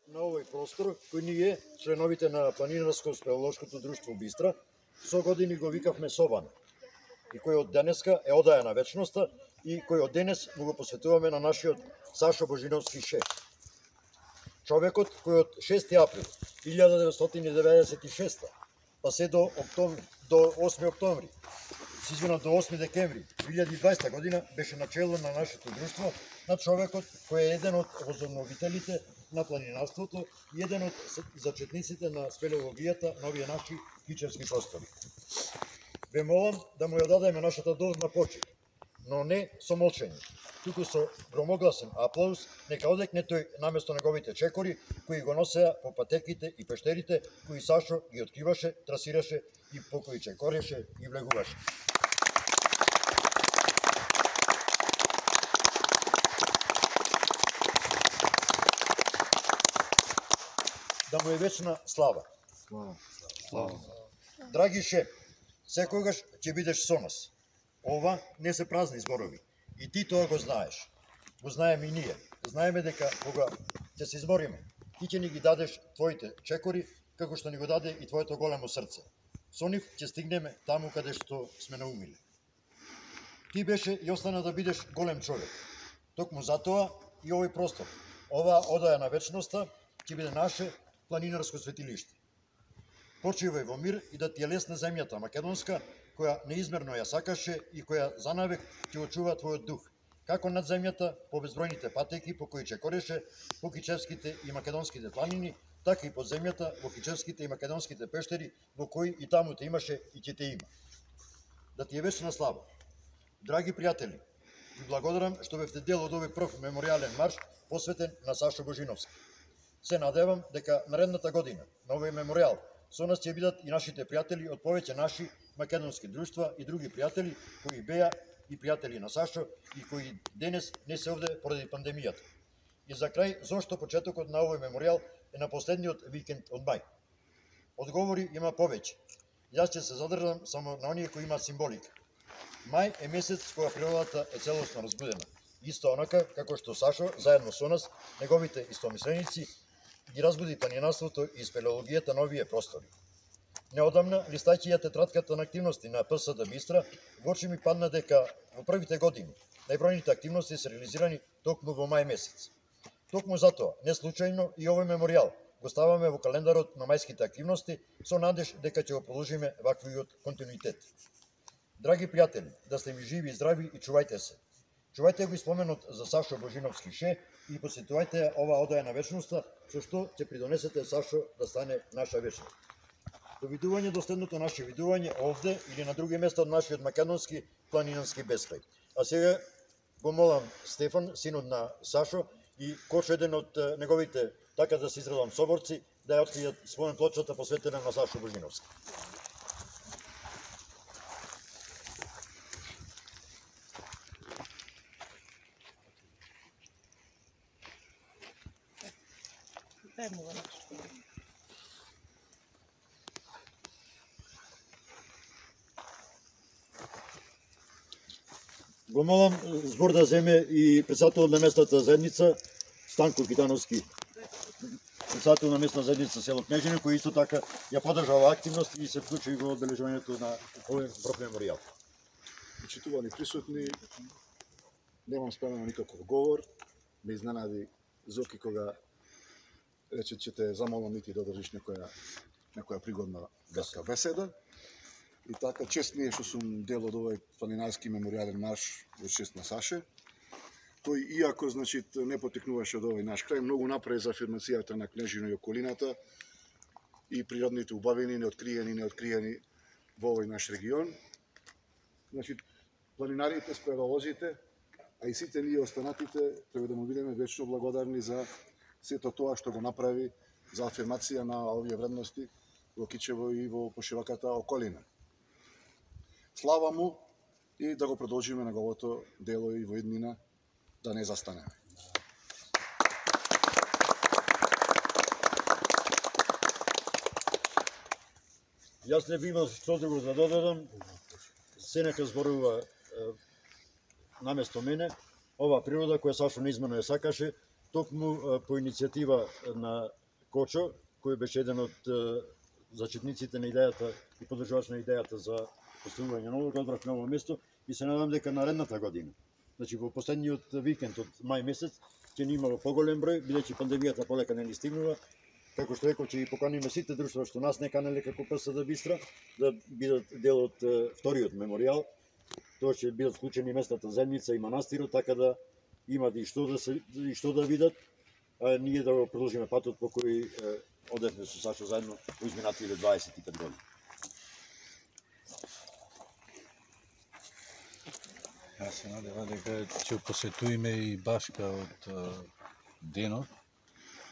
На овој простор, кој ние, членовите на Планинарско-спелеолошкото друштво Бистра, со години го викавме Собан, и кој од денеска е одаја на вечноста и кој од денес му го посветуваме на нашиот Сашо Божиновски ше. Човекот кој од 6 април 1996 па се до 8 октомври, до 8 декември 2020 година беше начело на нашето друштво, на човекот кој е еден од возобновителите на планинарството и еден од зачетниците на спелеологијата на овие наши кичевски простори. Ве молам да му ја дадеме нашата должна почит, но не со молчење, туку со громогласен аплауз, нека одекне тој наместо неговите чекори, кои го носеа по патеките и пештерите, кои Сашо ги откриваше, трасираше и по кои чекореше и влегуваше. Да му е вечна слава. Слава. Драги ше, секогаш ќе бидеш со нас. Ова не се празни зборови. И ти тоа го знаеш. Го знаеме и ние. Знаеме дека кога ќе се измориме, ти ќе ни ги дадеш твоите чекори, како што ни го даде и твоето големо срце. Со нив ќе стигнеме таму каде што сме наумиле. Ти беше и остана да бидеш голем човек. Токму затоа и овој простор, оваа одаја на вечноста, ќе биде наше планинарско светилиште. Почивај во мир и да ти е лесна земјата македонска, која неизмерно ја сакаше и која занавек ќе очува твојот дух, како над земјата по безбројните патеки по кои чекореше по кичевските и македонските планини, така и под земјата во кичевските и македонските пештери, во кои и таму те имаше и ќе те има. Да ти е вечна слава. Драги пријатели, ви благодарам што бевте дел од овој прв меморијален марш посветен на Сашо Божиновски. Се надевам дека наредната година на овој меморијал со нас ќе бидат и нашите пријатели од повеќе наши македонски друштва и други пријатели кои беа и пријатели на Сашо и кои денес не се овде поради пандемијата. И за крај, зошто почетокот на овој меморијал е на последниот викенд од мај? Одговори има повеќе. Јас ќе се задржам само на оние кои имаат символика. Мај е месец кога природата е целосно разбудена. Исто онака како што Сашо, заедно со нас, неговите истомисленици, ги разбуди планинарството и спелеологијата на овие простори. Неодамна, листајќи ја тетратката на активности на ПСД Бистра, во очи ми падна дека во првите години најбројните активности се реализирани токму во мај месец. Токму затоа, не случајно и овој меморијал го ставаме во календарот на мајските активности со надеж дека ќе го продолжиме ваквиот континуитет. Драги пријатели, да сте ми живи и здрави и чувајте се. Чувајте го и споменот за Сашо Божиновски ше и посетувајте оваа одаја на вечноста, со што ќе придонесете Сашо да стане наша вечност. До видување до следното наше видување овде или на други места од нашиот македонски планинарски бескрај. А сега го молам Стефан, синот на Сашо, и Кочо, еден од неговите, така да се изразам, соборци, да ја откријат спомен плочата посветена на Сашо Божиновски. Го молам збор да земе и председател на местната заедница Станко Китановски, председател на местна заедница село Кнежине, кој исто така ја подржа оваа активност и се вклучи во одбележувањето на овој прв меморијал. Почитувани присутни, немам спремено никаков говор, ме изненади Зоки кога рече че те замолам и ти да држиш некоја пригодна беседа. И така, чест ми е што сум дел од овој планинарски меморијален марш во чест на Саше, кој иако не потекнуваше од овој наш крај, многу направи за афирмацијата на Кнежино и околината и природните убавини, неоткриени во овој наш регион. Планинарите, спелеолозите, а и сите ние останатите треба да му бидеме вечно благодарни за сето тоа што го направи за афирмација на овие вредности во Кичево и во пошироката околина. Слава му и да го продолжиме неговото дело и во иднина, да не застанеме. Јас не би имал што друго да додадам, Сенека зборува наместо мене, ова природа која сашто неизмерно ја сакаше, токму по иницијатива на Кочо, кој беше еден од зачетниците на идејата и поддржувач на идејата за поставување на ово, одбрав на ово место и се надам дека наредната година, значи во последниот викенд од мај месец, ќе ни имало поголем број, бидејќи пандемијата полека не ни стигнува. Како што реков, ќе ги поканиме сите друштва што нас не канеле како ПСД Бистра, да бидат дел од вториот меморијал. Тоа ќе бидат вклучени местната земјица и манастирот, така да имат и што да видат, а ние да го продолжиме патот по кој одевме со Сашо заедно во изминативе 25 години. Јас се надевам дека ќе посетуваме и Башка од денот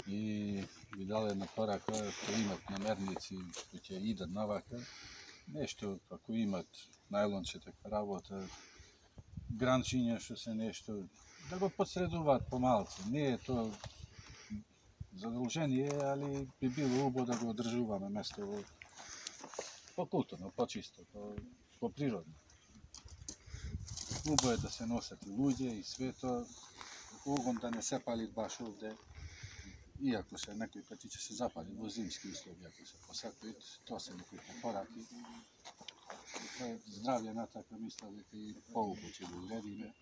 и ви дали една порака, кои имат намерници кои ќе идат навака, нешто како имат најлонче така работа, гранчиња што се нешто, да го подсредуваат помалку. Не е тоа задолжение, али би било убаво да го одржуваме место по-културно, по-чисто, по-природно. Убаво е да се носат и луѓе и свето, огон да не се пали баш овде, иако се некои пати ќе се запали во зимски услови, ако се посакаат, тоа се некои препораки. Тоа е здравје натака, мисля дека и поубаво ќе го уредиме.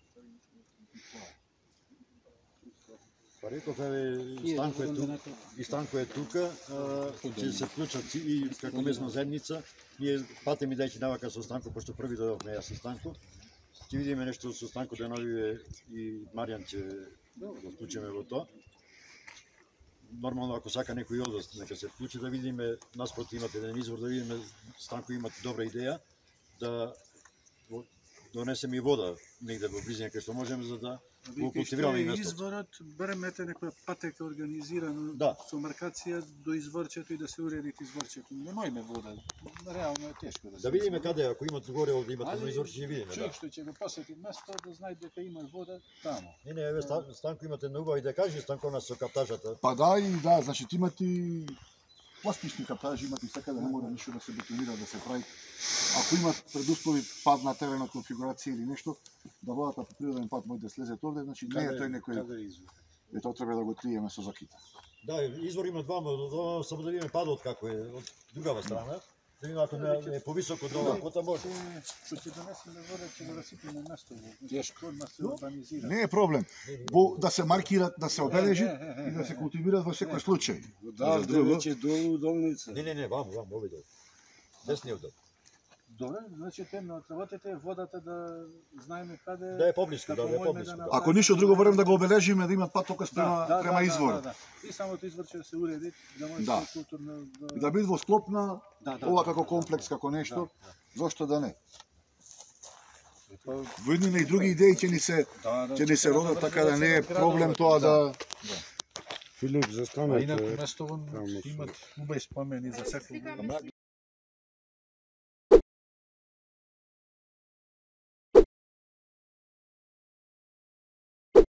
Па реков, и Станко е тука, ќе се вклучат и како местна заедница. Ние патем идејќи навака со Станко, пошто први дојдовме јас со Станко. Ќе видиме нешто со Станко Деновиве и Маријан ќе го вклучиме во тоа. Нормално, ако сака некој од нас, нека се вклучи да видиме, наспроти имате еден извор, да видиме, Станко имате добра идеја, да донесеме и вода негде во близина кај што можеме, за да го култивираме и местото. Изворот, барем ете некоја патека организирана со маркација до изворчето и да се уреди изворчето. Немојме вода, реално е тешко да се. Да видиме каде, ако имате горе овде имате едно изворче, ќе видиме. Човек што ќе го посети место да знае дека има вода таму. Не, еве Станко имате една убава идеја, кажи Станко нас со каптажата. Па да, и да, значи имате пластични каптажи, имате така да не мора ништо да се бетонира, да се прави. Ако имат предуслови пад на терена, конфигурација или нешто, да водата по природен пат може да слезе овде, значи не е тој некој. Е тоа треба да го триеме со закита. Да, извор има двама, само да видиме падот како е од другава страна. Да видиме ако не е повисоко од ова кота може. Што ќе донесеме вода, ќе го расипиме место во. Тешко да се урбанизира. Не е проблем. Да се маркират, да се обележи и да се култивират во секој случај. Да, веќе долу долница. Не, вам, овој дол. Десниот дол. Добре, значи темно отработете водата да знаеме каде. Да е поблиску, да е поблиску. Ако ништо друго барем да го обележиме, да имат патокас према изворот. И самото изворче да се уреди, да може Да. културно Да биде во склопна, ова како комплекс, како нешто, зошто да не? Во едни и други идеи ќе ни се родат, така да не е проблем тоа да... Филип, А застанете. инаку местовон имат убави спомени за секој.